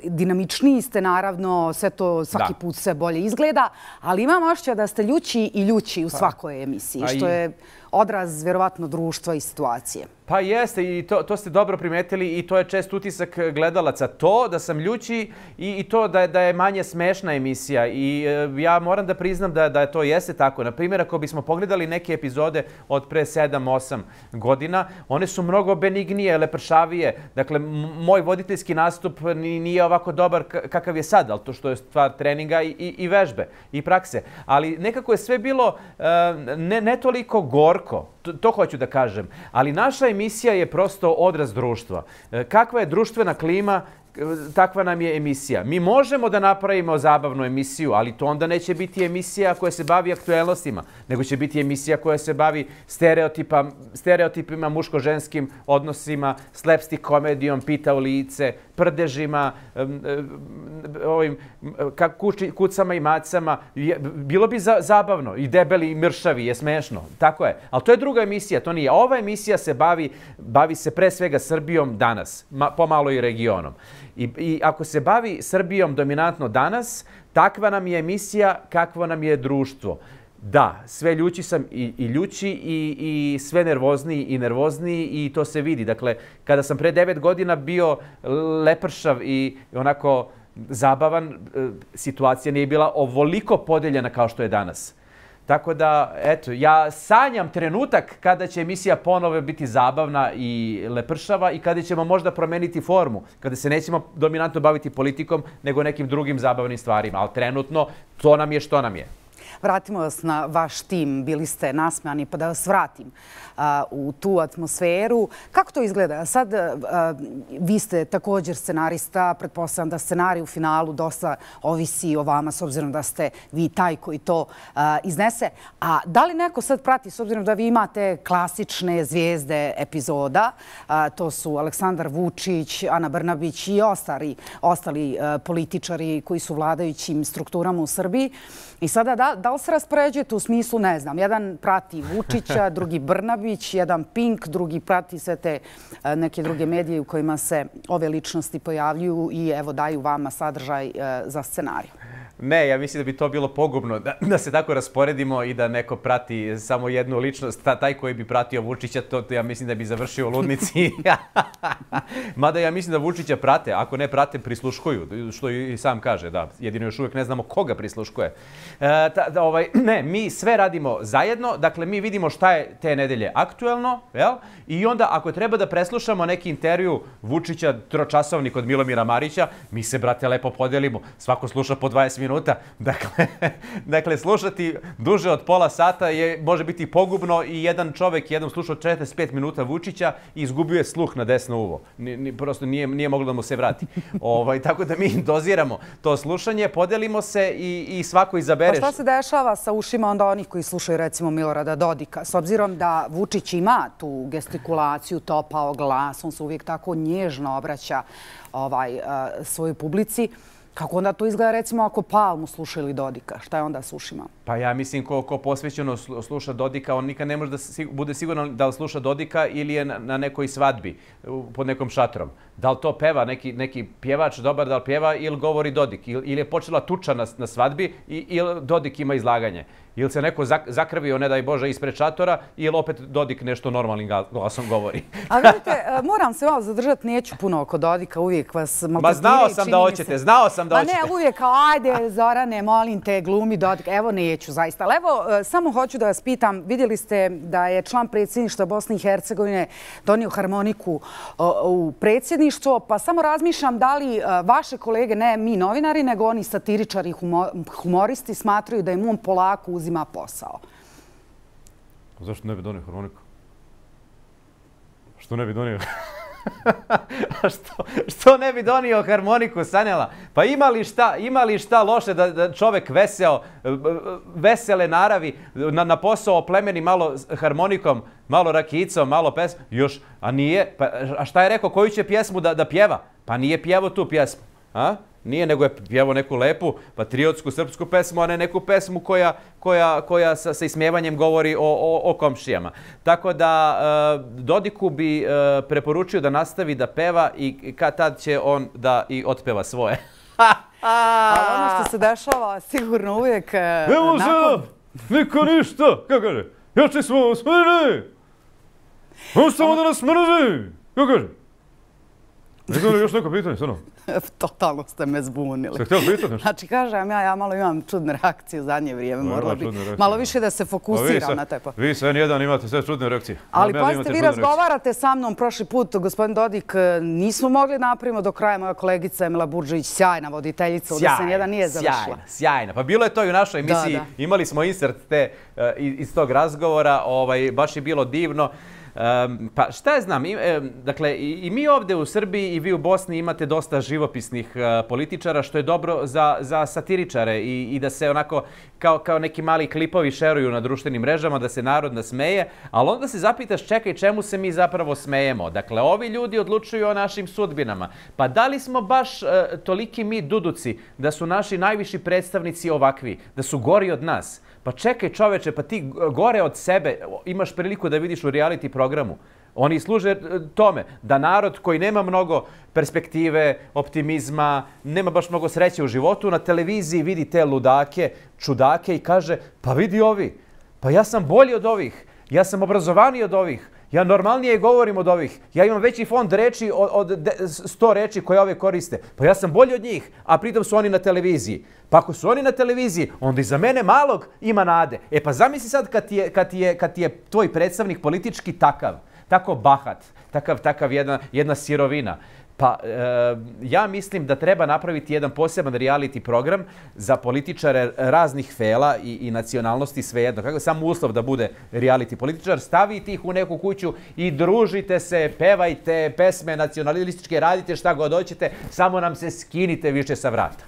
dinamičniji, ste naravno, sve to svaki put sve bolje izgleda, ali imam osjećaj da ste ljući i ljući u svakoj emisiji, što je odraz vjerovatno društva i situacije. Pa jeste i to ste dobro primetili i to je čest utisak gledalaca. To da sam ljući i to da je manje smešna emisija. I ja moram da priznam da to jeste tako. Na primjer, ako bismo pogledali neke epizode od pre 7-8 godina, one su mnogo benignije, lepršavije. Dakle, moj voditeljski nastup nije ovako dobar kakav je sad, ali to što je stvar treninga i vežbe i prakse. Ali nekako je sve bilo ne toliko gorko. To hoću da kažem. Ali naša emisija je prosto odraz društva. Kakva je društvena klima, takva nam je emisija. Mi možemo da napravimo zabavnu emisiju, ali to onda neće biti emisija koja se bavi aktuelnostima, nego će biti emisija koja se bavi stereotipima, muško-ženskim odnosima, slapstick komedijom, pita u lice, prdežima, kucama i macama. Bilo bi zabavno i debeli i mršavi, je smešno. Tako je. Ali to je druga emisija, to nije. Ova emisija se bavi se pre svega Srbijom danas, pomalo i regionom. I ako se bavi Srbijom dominantno danas, takva nam je emisija, kakvo nam je društvo. Da, sve ljući sam i ljući i sve nervozniji i nervozniji i to se vidi. Dakle, kada sam pre 9 godina bio lepršav i onako zabavan, situacija nije bila ovoliko podeljena kao što je danas. Tako da, eto, ja sanjam trenutak kada će emisija ponovo biti zabavna i lepršava i kada ćemo možda promeniti formu, kada se nećemo dominantno baviti politikom, nego nekim drugim zabavnim stvarima. Ali trenutno, to nam je što nam je. Vratimo vas na vaš tim. Bili ste nasmejani, pa da vas vratim u tu atmosferu. Kako to izgleda? Sad, vi ste također scenarista. Pretpostavljam da scenarij u finalu dosta ovisi o vama, s obzirom da ste vi taj koji to iznese. A da li neko sad prati, s obzirom da vi imate klasične zvijezde epizoda, to su Aleksandar Vučić, Ana Brnabić i ostali političari koji su vladajućim strukturama u Srbiji. I sada da li se raspoređujete u smislu, ne znam, jedan prati Vučića, drugi Brnabić, jedan Pink, drugi prati sve te neke druge medije u kojima se ove ličnosti pojavljuju i evo daju vama sadržaj za scenarij? Ne, ja mislim da bi to bilo pogubno da se tako rasporedimo i da neko prati samo jednu ličnost. Taj koji bi pratio Vučića, to ja mislim da bi završio u ludnici. Mada ja mislim da Vučića prate. Ako ne prate, prisluškuju. Što i sam kaže, da. Jedino još uvijek ne znamo koga prisluškuje. Ne, mi sve radimo zajedno. Dakle, mi vidimo šta je te nedelje aktuelno. I onda, ako treba da preslušamo neki intervju Vučića, tročasovnik od Milomira Marića, mi se, brate, lepo podelimo. Svako sluša po 20 minuta. Dakle, slušati duže od pola sata može biti pogubno i jedan čovek jednom slušao 45 minuta Vučića i izgubio je sluh na desno uvo. Prosto nije moglo da mu se vrati. Tako da mi doziramo to slušanje, podelimo se i svako izabere. Pa šta se dešava sa ušima onda onih koji slušaju recimo Milorada Dodika? S obzirom da Vučić ima tu gestikulaciju, topao glas, on se uvijek tako nježno obraća svojoj publici. Kako onda to izgleda recimo ako Palmu sluša ili Dodika? Šta je onda s ušima? Pa ja mislim ko posvećeno sluša Dodika, on nikad ne može da bude siguran da li sluša Dodika ili je na nekoj svadbi pod nekom šatrom. Da li to peva neki pjevač dobar, da li pjeva ili govori Dodik? Ili je počela tuča na svadbi ili Dodik ima izlaganje? Ili se neko zakrvio, ne daj Bože, ispred šatora ili opet Dodik nešto normalnim glasom govori? A vidite, moram se malo zadržati, neću puno oko Dodika, uvijek vas maltretiraju. Znao sam da hoćete. Pa ne, uvijek kao, ajde Zorane, molim te, glumi Dodika. Evo, neću zaista. Ali evo, samo hoću da vas pitam, vidjeli ste da je član predsjedništva Bosne i Hercegovine donio harmoniku u predsjedništvo, pa samo razmišljam da li vaše kolege, ne mi novinari, nego oni satiričari, humoristi, smatraju da im on polako uzima posao. Zašto ne bi donio harmoniku? Što ne bi donio? Što ne bi donio harmoniku, Sanjala? Pa ima li šta loše da čovek vesele naravi na posao oplemeni malo harmonikom, malo rakicom, malo pesmom? Još, a nije? A šta je rekao, koju će pjesmu da pjeva? Pa nije pjevao tu pjesmu. Nije, nego je pjevao neku lepu patriotsku srpsku pesmu, a ne neku pesmu koja sa ismjevanjem govori o komšijama. Tako da Dodiku bi preporučio da nastavi da peva i kad tad će on da i otpeva svoje. Ali ono što se dešava sigurno uvijek... Evo sad, niko ništa, kako kaže, jači smo smrži, ostamo da nas mrži, kako kaže. Ne znam li još neko pitanje, stvarno? Totalno ste me zbunili. Ste htjeli pitati nešto? Znači, kažem, ja malo imam čudne reakcije u zadnje vrijeme. Moralo bi malo više da se fokusiram na te. Vi sve nijedan imate sve čudne reakcije. Ali pazite, vi razgovarate sa mnom prošli put, gospodin Dodik, nismo mogli napravimo do kraja. Moja kolegica Emila Buržević, sjajna voditeljica, ovdje se nijedan nije završila. Sjajna. Pa bilo je to i u našoj emisiji. Imali smo insert iz tog razgovora. Baš je bilo divno. Pa šta je znam, dakle i mi ovdje u Srbiji i vi u Bosni imate dosta živopisnih političara, što je dobro za satiričare i da se onako kao neki mali klipovi šeruju na društvenim mrežama, da se narod nasmeje, ali onda se zapitaš čekaj čemu se mi zapravo smejemo. Dakle, ovi ljudi odlučuju o našim sudbinama. Pa da li smo baš toliki mi duduci da su naši najviši predstavnici ovakvi, da su gori od nas? Pa čekaj čoveče, pa ti gore od sebe imaš priliku da vidiš u reality programu. Oni služe tome da narod koji nema mnogo perspektive, optimizma, nema baš mnogo sreće u životu, na televiziji vidi te ludake, čudake i kaže pa vidi ovi, pa ja sam bolji od ovih, ja sam obrazovaniji od ovih, Ja normalnije govorim od ovih. Ja imam veći fond reči od 100 reči koje ove koriste. Pa ja sam bolji od njih, a pritom su oni na televiziji. Pa ako su oni na televiziji, onda i za mene malog ima nade. E pa zamisli sad kad ti je tvoj predstavnik politički tako bahat, takav jedna sirovina. Pa ja mislim da treba napraviti jedan poseban reality program za političare raznih fela i nacionalnosti, svejedno. Kako je samo uslov da bude reality političar, stavite ih u neku kuću i družite se, pevajte pesme nacionalističke, radite šta god hoćete, samo nam se skinite više sa vrata.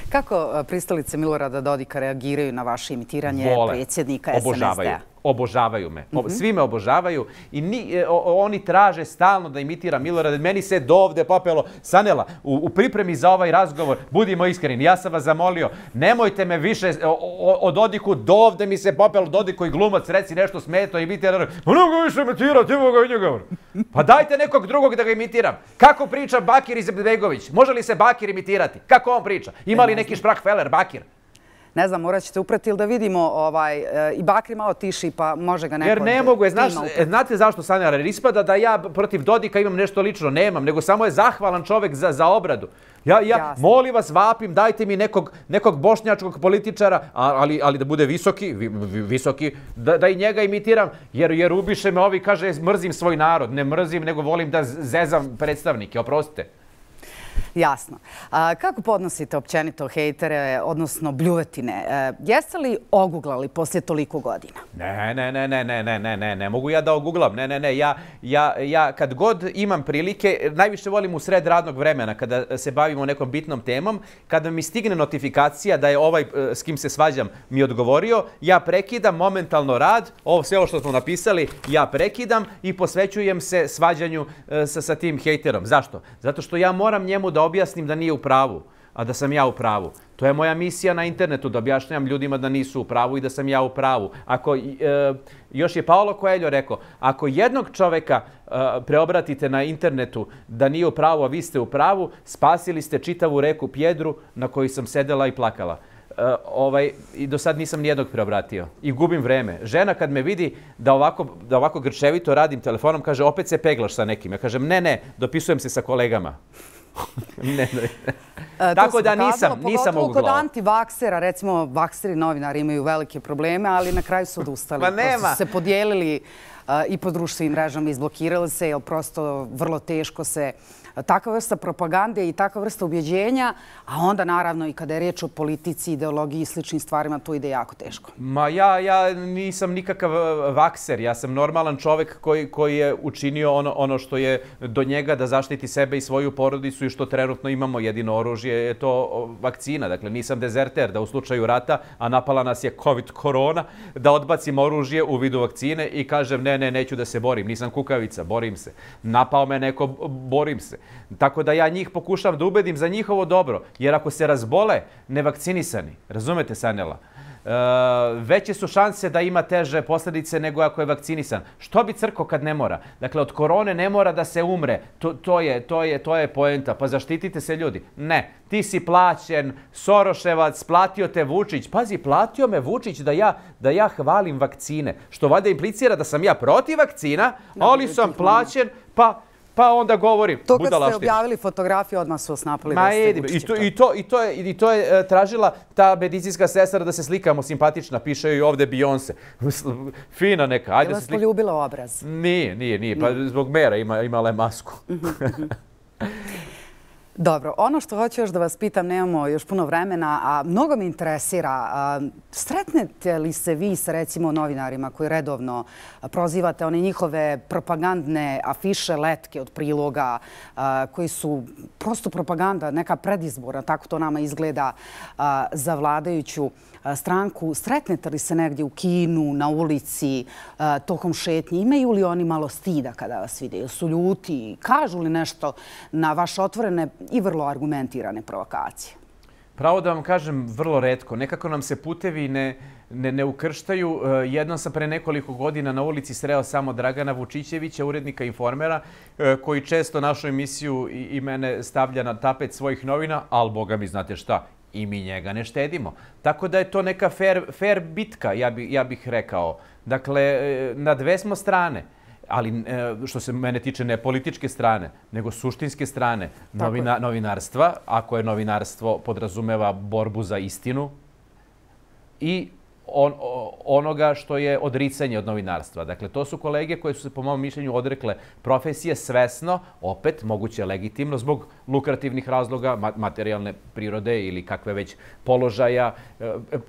Kako pristalice Milorada Dodika reagiraju na vaše imitiranje predsjednika SNSD-a? Obožavaju me. Svi me obožavaju i oni traže stalno da imitiram Milorada. Meni se dovde popelo. Sanela, u pripremi za ovaj razgovor, budimo iskreni, ja sam vas zamolio, nemojte me više o Dodiku, dovde mi se popelo Dodiku i glumac, reci nešto smeto, imitira. Pa ne mogu više imitirati, evo ga i njega. Pa dajte nekog drugog da ga imitiram. Kako priča Bakir Izetbegović? Može li se Bakir imitirati? Kako on priča? Ima li neki šprahfeler Bakir? Ne znam, morat ćete uprati ili da vidimo i Bakri malo tiši, pa može ga neko... Jer ne mogu, znate zašto, Sanja, jer ispada da ja protiv Dodika imam nešto lično, nemam, nego samo je zahvalan čovek za obradu. Ja molim vas, vapim, dajte mi nekog bošnjačkog političara, ali da bude visoki, da i njega imitiram, jer ubiše me ovi, kaže, mrzim svoj narod, ne mrzim, nego volim da zezam predstavnike, oprostite. Jasno. Kako podnosite općenito hejtere, odnosno bljuvetine? Jeste li oguglali poslije toliko godina? Ne mogu ja da oguglam. Ja kad god imam prilike, najviše volim u sred radnog vremena, kada se bavimo nekom bitnom temom, kada mi stigne notifikacija da je ovaj s kim se svađam mi odgovorio, ja prekidam momentalno rad, sve ovo što smo napisali, ja prekidam i posvećujem se svađanju sa tim hejterom. Zašto? Zato što ja moram njemu da objasnim da nije u pravu, a da sam ja u pravu. To je moja misija na internetu, da objašnjam ljudima da nisu u pravu i da sam ja u pravu. Još je Paolo Coelho rekao, ako jednog čoveka preobratite na internetu da nije u pravu, a vi ste u pravu, spasili ste čitavu reku Pjedru na kojoj sam sedela i plakala. I do sad nisam nijednog preobratio. I gubim vreme. Žena kad me vidi da ovako grčevito radim telefonom, kaže, opet se peglaš sa nekim. Ja kažem, ne, dopisujem se sa kolegama. Tako da nisam pogotovo oguglao. Kod antivaksera, recimo, vakseri novinari imaju velike probleme, ali na kraju su odustali. Prosto su se podijelili i po društvenim mrežama, izblokirali se, jer prosto vrlo teško se takva vrsta propagande i takva vrsta ubjeđenja, a onda naravno i kada je riječ o politici, ideologiji i sličnim stvarima, to ide jako teško. Ma ja nisam nikakav vakser, ja sam normalan čovek koji je učinio ono što je do njega da zaštiti sebe i svoju porodicu i što trenutno imamo. Jedino oružje je to vakcina. Dakle, nisam dezerter da u slučaju rata, a napala nas je COVID korona, da odbacim oružje u vidu vakcine i kažem ne, neću da se borim, nisam kukavica, borim se. Napao me neko, borim se. Tako da ja njih pokušam da ubedim za njihovo dobro, jer ako se razbole nevakcinisani, razumete, Sanela, veće su šanse da ima teže posljedice nego ako je vakcinisan. Što bi crko kad ne mora? Dakle, od korone ne mora da se umre. To je poenta. Pa zaštitite se, ljudi. Ne. Ti si plaćen, Soroševac, platio te Vučić. Pazi, platio me Vučić da ja hvalim vakcine. Što valjda implicira da sam ja protiv vakcina, ali sam plaćen, pa onda govorim. To kad ste objavili fotografiju, odmah su vas napali da ste Vučića. I to je tražila ta medicinska sestra da se slikamo simpatična. Piše joj ovde Beyoncé. Fina neka. Je vas poljubila obraz? Nije. Pa zbog mera imala je masku. Dobro, ono što hoću još da vas pitam, nemamo još puno vremena, a mnogo me interesira. Sretnete li se vi sa, recimo, novinarima koji redovno prozivate one njihove propagandne afiše, letke od priloga, koji su prosto propaganda, neka predizborna, tako to nama izgleda za vladajuću stranku. Sretnete li se negdje u kinu, na ulici, tokom šetnje? Imaju li oni malo stida kada vas vide? Su ljuti? Kažu li nešto na vaše otvorene i vrlo argumentirane provokacije? Pravo da vam kažem, vrlo retko. Nekako nam se putevi ne ukrštaju. Jednom sam pre nekoliko godina na ulici sreo samo Dragana Vučićevića, urednika Informera, koji često našu emisiju i mene stavlja na tapet svojih novina, ali boga mi znate šta, i mi njega ne štedimo. Tako da je to neka fair bitka, ja bih rekao. Dakle, na dve smo strane. ali što se mene tiče ne političke strane, nego suštinske strane novinarstva, ako je novinarstvo podrazumeva borbu za istinu i onoga što je odricanje od novinarstva. Dakle, to su kolege koje su se, po mom mišljenju, odrekle profesije svesno, opet, moguće legitimno, zbog lukrativnih razloga, materijalne prirode ili kakve već položaja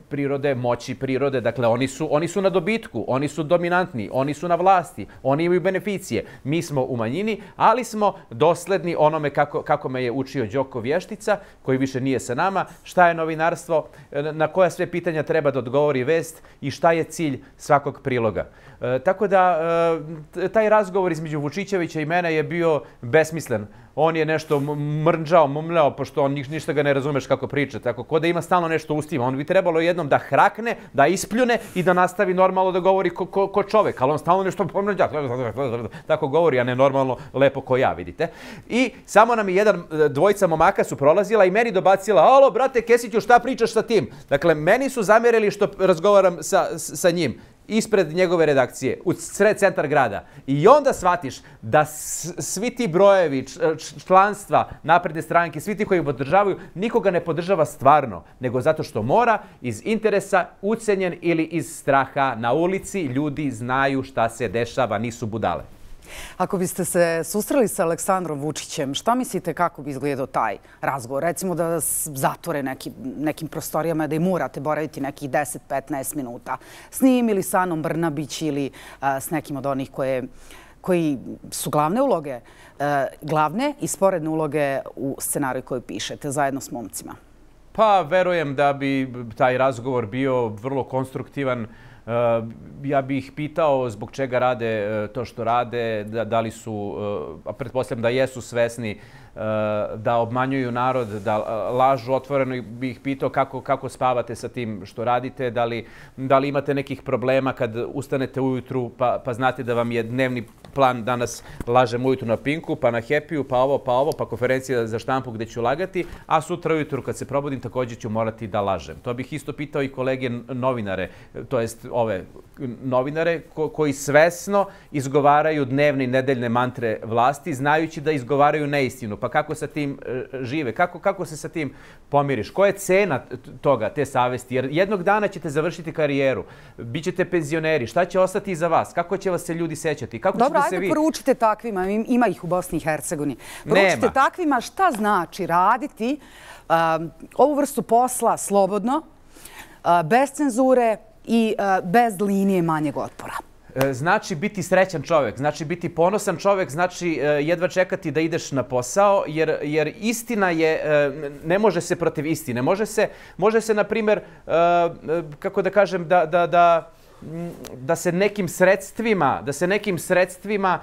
prirode, moći prirode. Dakle, oni su na dobitku, oni su dominantni, oni su na vlasti, oni imaju beneficije. Mi smo u manjini, ali smo dosledni onome kako me je učio Đoko Vještica, koji više nije sa nama, šta je novinarstvo, na koja sve pitanja treba da odgovori vest i šta je cilj svakog priloga. Tako da, taj razgovor između Vučićevića i mene je bio besmislen. On je nešto mrnđao, mumljao, pošto on ništa ga ne razumeš kako priča. Tako, ko da ima stalno nešto u ustima. On bi trebalo jednom da hrakne, da ispljune i da nastavi normalno da govori ko čovek. Ali on stalno nešto pomrnđa. Tako govori, a ne normalno lepo ko ja, vidite. I samo nam je dvojica momaka su prolazila i meni dobacila: alo, brate Kesiću, šta pričaš sa tim? Dakle, meni su zamerili što razgovaram sa njim ispred njegove redakcije, u sred centar grada. I onda shvatiš da svi ti brojevi, članstva Napredne stranke, svi ti koji podržavaju, nikoga ne podržava stvarno, nego zato što mora, iz interesa, ucenjen ili iz straha. Na ulici ljudi znaju šta se dešava, nisu budale. Ako biste se susreli sa Aleksandrom Vučićem, šta mislite kako bi izgledao taj razgovor? Recimo da vas zatvore nekim prostorijama, da i morate boraviti nekih 10-15 minuta s njim ili sa Anom Brnabić ili s nekim od onih koji su glavne uloge, glavne i sporedne uloge u scenariju koju pišete zajedno s momcima. Pa, verujem da bi taj razgovor bio vrlo konstruktivan. Ja bih ih pitao zbog čega rade to što rade, da li su, a pretpostavljam da jesu svesni da obmanjuju narod, da lažu otvoreno. Bih ih pitao kako spavate sa tim što radite, da li imate nekih problema kad ustanete ujutru pa znate da vam je dnevni plan danas lažem ujutru na Pinku, pa na Happy-u, pa ovo, pa konferencija za štampu gde ću lagati, a sutra ujutru kad se probudim također ću morati da lažem. To bih isto pitao i kolege novinare, to jest ove novinare koji svesno izgovaraju dnevne i nedeljne mantre vlasti, znajući da izgovaraju neistinu. Pa kako sa tim žive? Kako se sa tim pomiriš? Koja je cena toga, te savesti? Jer jednog dana ćete završiti karijeru, bićete penzioneri, šta će ostati iza vas? Kako će vas se ljudi sećati? Dobro, ajde poručite takvima, ima ih u Bosni i Hercegovini. Poručite takvima šta znači raditi ovu vrstu posla slobodno, bez cenzure i bez linije manjeg otpora. Znači biti srećan čovjek, znači biti ponosan čovjek, znači jedva čekati da ideš na posao, jer istina je, ne može se protiv istine. Može se, na primjer, kako da kažem, da se nekim sredstvima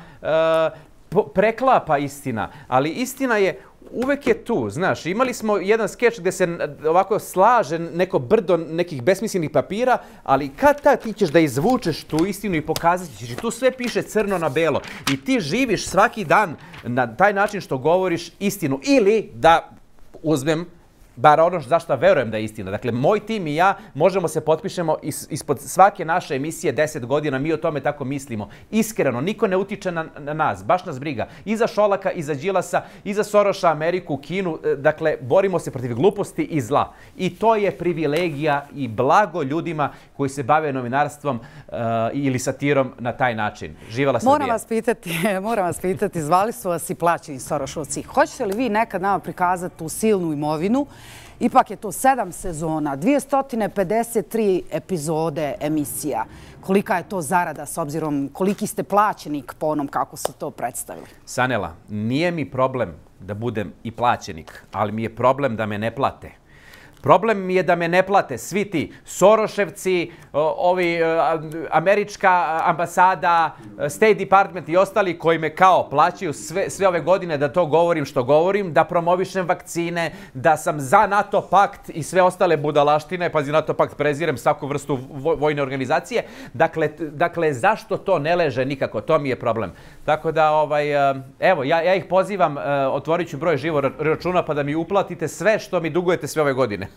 preklapa istina, ali istina je uvek je tu, znaš. Imali smo jedan skeč gdje se ovako slaže neko brdo nekih besmislenih papira, ali kad ti ćeš da izvučeš tu istinu i pokazat ćeš, i tu sve piše crno na belo i ti živiš svaki dan na taj način što govoriš istinu, ili da uzmem bar ono zašto verujem da je istina. Dakle, moj tim i ja možemo se potpišemo ispod svake naše emisije 10 godina, mi o tome tako mislimo. Iskreno, niko ne utiče na nas, baš nas briga. I za Šolaka, i za Đilasa, i za Soroša, Ameriku, Kinu. Dakle, borimo se protiv gluposti i zla. I to je privilegija i blago ljudima koji se bave novinarstvom ili satirom na taj način. Živela Srbija. Moram vas pitati, zvali su vas i plaćeni Sorošovci. Hoćete li vi nekad nama prikazati tu silnu imovinu? Ipak je to 7 sezona, 253 epizode emisija. Kolika je to zarada s obzirom koliki ste plaćenik po onom kako su to predstavili? Sanela, nije mi problem da budem i plaćenik, ali mi je problem da me ne plate. Problem mi je da me ne plate svi ti Soroševci, američka ambasada, State Department i ostali koji me kao plaćaju sve ove godine da to govorim što govorim, da promovišem vakcine, da sam za NATO pakt i sve ostale budalaštine, pazi, NATO pakt prezirem svaku vrstu vojne organizacije. Dakle, zašto to ne leže nikako? To mi je problem. Tako da, evo, ja ih pozivam, otvorit ću broj živo računa pa da mi uplatite sve što mi dugujete sve ove godine.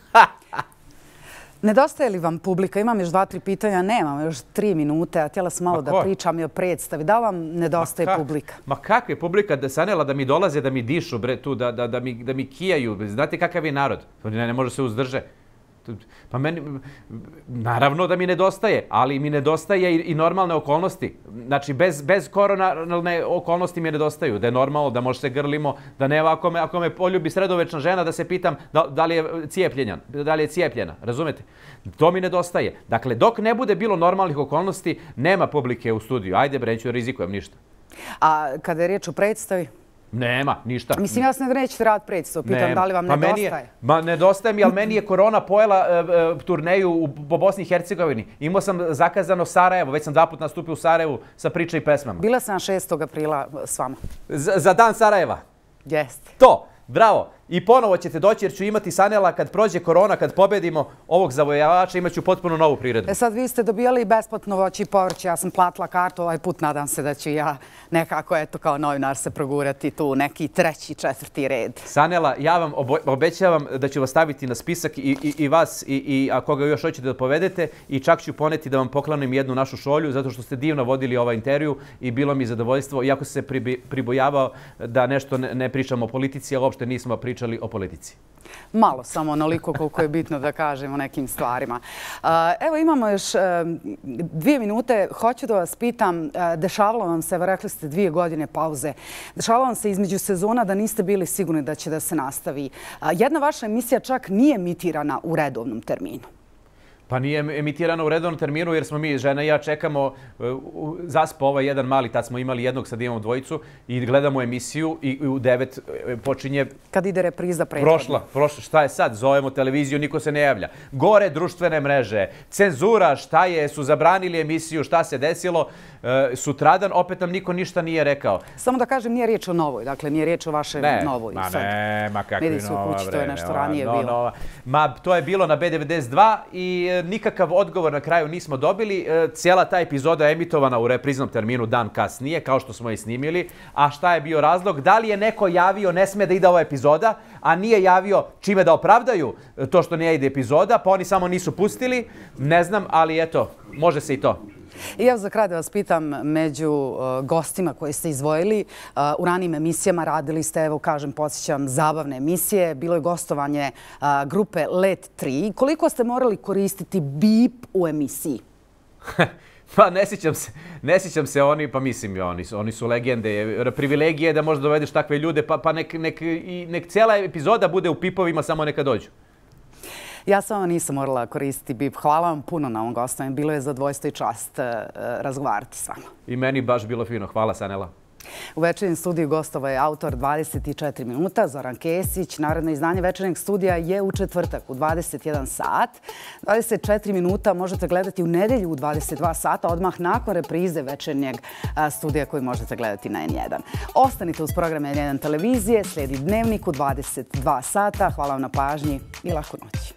Nedostaje li vam publika? Imam još 2-3 pitanja, nemam još 3 minute, a htjela sam malo da pričam i o predstavi. Da li vam nedostaje publika? Ma kakva je publika, Sanela, da mi dolaze, da mi dišu, bre, tu, da mi kijaju. Znate kakav je narod? Ne može se uzdrže. Pa meni, naravno da mi nedostaje, ali mi nedostaje i normalne okolnosti. Znači, bez koronalne okolnosti mi nedostaju. Da je normalno, da može se grlimo, da ne ako me poljubi sredovečna žena, da se pitam da li je cijepljena. Razumete? To mi nedostaje. Dakle, dok ne bude bilo normalnih okolnosti, nema publike u studiju. Ajde, bre, neću da rizikujem ništa. A kada je riječ o predstavi? Nema, ništa. Mislim, ja se nećete rad predstavu, pitam da li vam nedostaje. Ma nedostaje mi, ali meni je korona pojela turneju po Bosni i Hercegovini. Imao sam zakazano Sarajevo, već sam 2 puta nastupio u Sarajevu sa priče i pesmama. Bila sam 6. aprila s vama. Za dan Sarajeva? Jeste. To, bravo. I ponovo ćete doći jer ću imati, Sanela, kad prođe korona, kad pobedimo ovog zavojavača, imat ću potpuno novu priredbu. Sad vi ste dobijali besplatno voće i povrće, ja sam platila kartu, ovaj put nadam se da ću ja nekako, eto, kao novinar se progurati tu neki 3., 4. red. Sanela, ja vam obećavam da ću vas staviti na spisak i vas i ako ga još hoćete da povedete i čak ću poneti da vam poklanim jednu našu šolju zato što ste divno vodili ovaj intervju i bilo mi zadovoljstvo, iako se pribojavao da nešto ne pričamo o politici, a uopšte nismo pričali o politici. Malo, samo onoliko koliko je bitno da kažemo o nekim stvarima. Evo imamo još 2 minute. Hoću da vas pitam, dešavalo vam se, rekli ste 2 godine pauze, dešavalo vam se između sezona da niste bili sigurni da će da se nastavi. Jedna vaša emisija čak nije emitirana u redovnom terminu. Pa nije emitirano u redovnom terminu jer smo mi, žena i ja, čekamo, zaspo ovaj jedan mali, tad smo imali jednog, sad imamo 2 i gledamo emisiju i u 9 počinje... Kad ide repriza prethodna. Prošla, šta je sad? Zovemo televiziju, niko se ne javlja. Gore društvene mreže, cenzura, šta je, su zabranili emisiju, šta se desilo. Sutradan opet nam niko ništa nije rekao. Samo da kažem, nije riječ o novoj, dakle nije riječ o vašoj novoj. Ma kakvi nova, kući, to je nešto ranije bilo. Ma to je bilo na B92 i nikakav odgovor na kraju nismo dobili. Cijela ta epizoda je emitovana u repriznom terminu dan kasnije, kao što smo i snimili. A šta je bio razlog? Da li je neko javio ne sme da ide ova epizoda, a nije javio čime da opravdaju to što ne ide epizoda, pa oni samo nisu pustili? Ne znam, ali eto, može se i to. I ja za kraj da vas pitam, među gostima koje ste izdvojili, u ranijim emisijama radili ste, evo kažem, podsjećam, zabavne emisije. Bilo je gostovanje grupe Let 3. Koliko ste morali koristiti bip u emisiji? Pa ne sjećam se oni, pa mislim, oni su legende. Privilegije da možda dovedeš takve ljude, pa nek cijela epizoda bude u pipovima, samo neka dođu. Ja samo nisam morala koristiti bip. Hvala vam puno na ovom gostovanju. Bilo je zadovoljstvo i čast razgovarati s vama. I meni baš bilo fino. Hvala, Sanela. U večernjem studiju gostovao je autor 24 minuta, Zoran Kesić. Naredno izdanje večernjeg studija je u četvrtak u 21 sat. 24 minuta možete gledati u nedjelju u 22 sata, odmah nakon reprize večernjeg studija koji možete gledati na N1. Ostanite uz program N1 televizije, slijedi Dnevnik u 22 sata. Hvala vam na pažnji i laku noć.